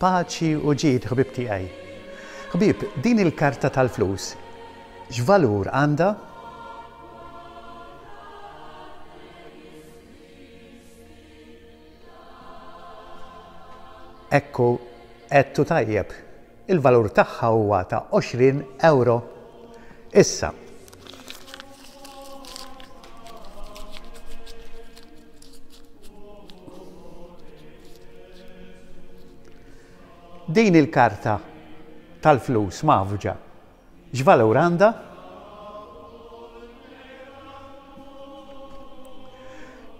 Paċi u ġid ħbieb tiegħi. Ħbieb, din il-karta tal-flus x'valur għandha? Ekku, għedtu tajjeb. Il-valur tagħha huwa ta' 20 ewro. Issa, Din il-karta tal-flus mgħaffġa x'valur għandha?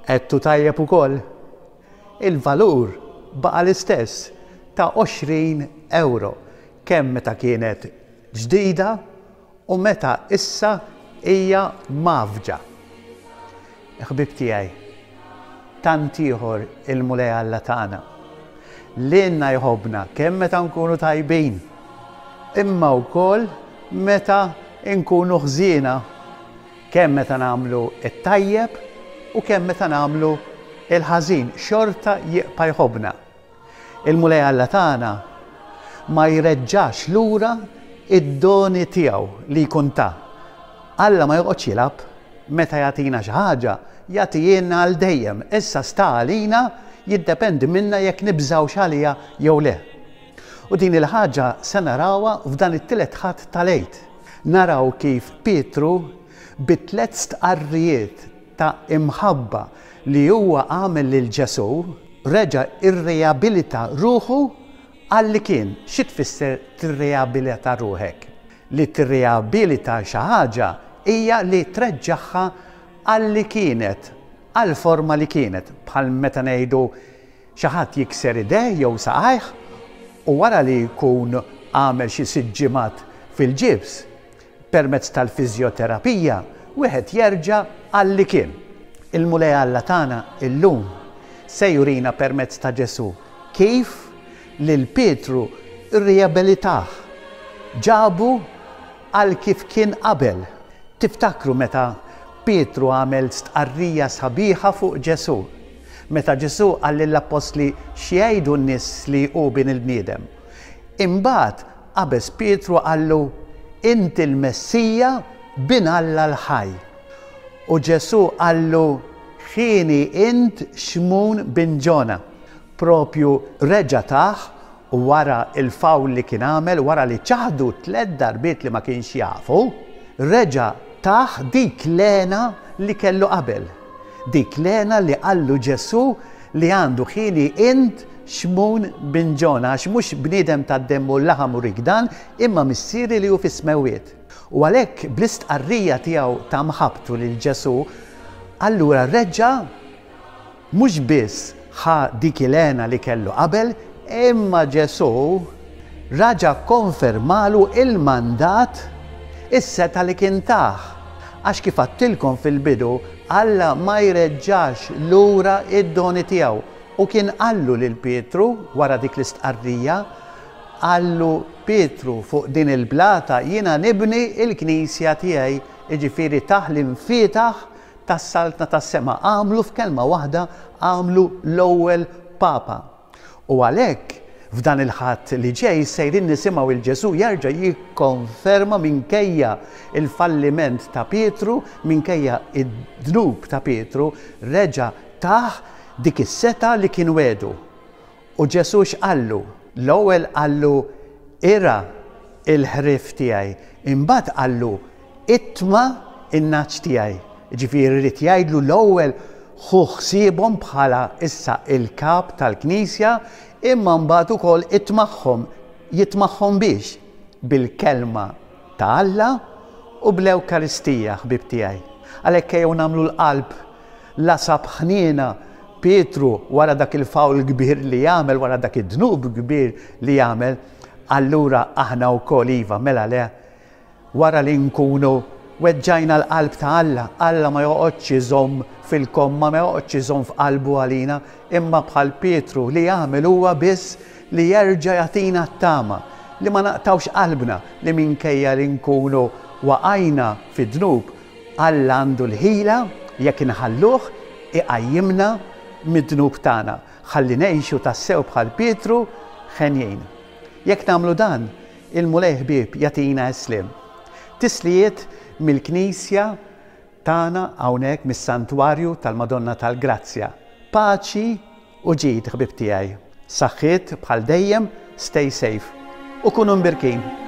Għedtu tajjeb ukoll. Il-valur baqa' l-istess ta' 20 ewro kemm meta kienet ġdida u meta issa hija mgħaffġa. Ħbieb tiegħi, tant ieħor il-Mulej Alla tagħna. Lilna jħobbna kemm meta nkunu tajbin, imma wkoll meta nkunu ħżiena, kemm meta nagħmlu t-tajjeb u kemm meta nagħmlu l-ħażin, xorta jibqa' jħobbna. Il-Mulej Alla tagħna ma jreġġax lura d-doni tiegħu li jkun ta. Alla ma joqgħodx jilgħab, meta jagħtina xi ħaġa, jagħtihielna għal dejjem. Issa sta għalina, jiddependi minna jekk nibżgħux għaliha jew le. U din il-ħaġa se narawha f'dan it-tielet Ħadd tal-Għid. Naraw kif Pietru bi tlett stqarrijiet ta' imħabba li huwa għamel lil Ġesù, reġa' rriabilita ruħu għal li kien. Xi tfisser tirriabilita ruħek? Li tirriabilita xi ħaġa hija li treġġagħha għal li kienet, għall-forma li kienet, bħal meta ngħidu xi ħadd jikser idejh jew saqajh u wara li jkun għamel xi sitt ġimgħat fil-ġibs, Permezz tal-fiżjoterapija wieħed jerġa' għal li kien. Il-Mulej Alla tagħna illum se jurina permezz ta' Ġesù kif lil Pietru rriabilitah, ġabu għal kif kien qabel. Tiftakru meta Pietru għamel stqarrija sabiħa fuq Ġesù? Meta Ġesù qal lill-appostli x'jgħidu n-nies li hu Bin il-bniedem? Imbagħad Qabeż Pietru qallu, Inti l-Messija, Bin Alla l-ħaj. U Ġesù qallu, Ħieni int Xmun bin Ġona. Propju reġa' tah wara l-fawl li kien għamel, wara li ċaħdu tlett darbiet li ma kienx jafu, reġa' tah dik l-hena li kellu qabel. Dik l-hena li qallu Ġesù li għandu ħieni int Xmun bin Ġona, għax mhux bniedem tad-demm u l-laħam urik dan, imma Missieri li hu fis-smewwiet. U għalhekk bl-istqarrija tiegħu ta' mħabbtu lil Ġesù, allura reġa' mhux biss ħa dik il-hena li kellu qabel, imma Ġesù raġa' kkonfermalu il-mandat, is-setgħa li kien tah. Għax kif għadtilkom fil-bidu, Alla ma jreġġax lura d-doni tiegħu. U kien qallu lil Pietru wara dik l-istqarrija, qallu, Pietru, fuq din il-blata jiena nibni l-knisja tiegħi, jiġifieri tah l-imfietaħ tas-Saltna tas-Sema, għamlu f'kelma waħda għamlu l-ewwel Papa. U għalhekk, f'dan il-Ħadd li ġej sejrin nisimgħu 'l Ġesù jerġa' jikkonferma minkejja l-falliment ta' Pietru, minkejja d-dnub ta' Pietru, reġa' tah dik is-setgħa li kien wegħdu. U Ġesù x'qallu? L-ewwel qallu, Irgħa l-ħrief tiegħi. Imbagħad qallu, Itma' n-nagħaġ tiegħi. Jiġifieri ried jgħidlu l-ewwel ħu ħsiebhom bħala issa l-kap tal-Knisja, imma mbagħad ukoll itmagħhom. Jitmagħhom biex? Bil-Kelma ta' Alla u bl-Ewkaristija, ħbieb tiegħi. Għalhekk ejjew nagħmlu l-qalb la sab ħniena Pietru wara dak il-fawl kbir li għamel, wara dak id-dnub kbir li għamel, allura aħna wkoll iva, mela le, wara li nkunu weġġajna l-qalb ta' Alla, Alla ma joqgħodx iżomm fil-komma, ma joqgħodx iżomm f'qalbu għalina, imma bħal Pietru li jagħmel huwa biss li jerġa' jagħtina t-tama, li ma naqtgħux qalbna li minkejja li nkunu waqajna fid-dnub, Alla għandu l-ħila, jekk inħalluh, iqajjimna mid-dnub tagħna. Ħalli ngħixu tassew bħal Pietru. Henjin. Jekk nagħmlu dan, il-Mulej ħbieb jagħtina s-sliem. Tislijiet mill-Knisja tagħna hawnhekk mis-Santwarju tal-Madonna tal-Grazzja. Paċi u ġid ħbieb tiegħi. Saħħiet bħal dejjem, stay safe u kunu mbirkin.